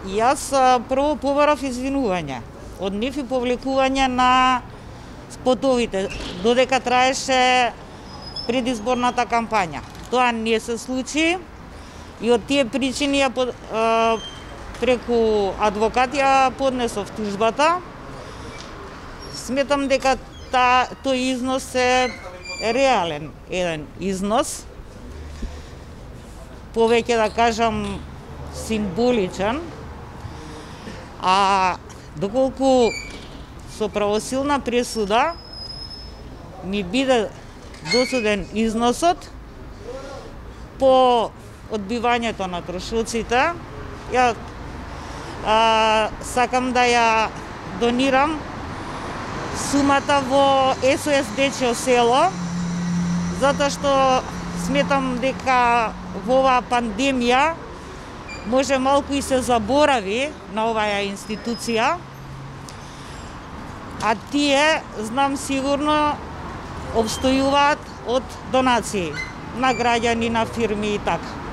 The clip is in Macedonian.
Јас прво побарав извинување од нив и повлекување на спотовите, додека траеше предизборната кампања. Тоа не се случи и од тие причини преку адвокат ја поднесов тужбата. Сметам дека тој износ е реален еден износ, повеќе да кажам символичен, а доколку со правосилна пресуда ми биде досуден износот по одбивањето на трошоците, ја сакам да ја донирам сумата во СОС Дечјо село, затоа што сметам дека во оваа пандемија може малку и се заборави на оваа институција, а тие, знам сигурно, обстојуваат од донации на граѓани, на фирми и така.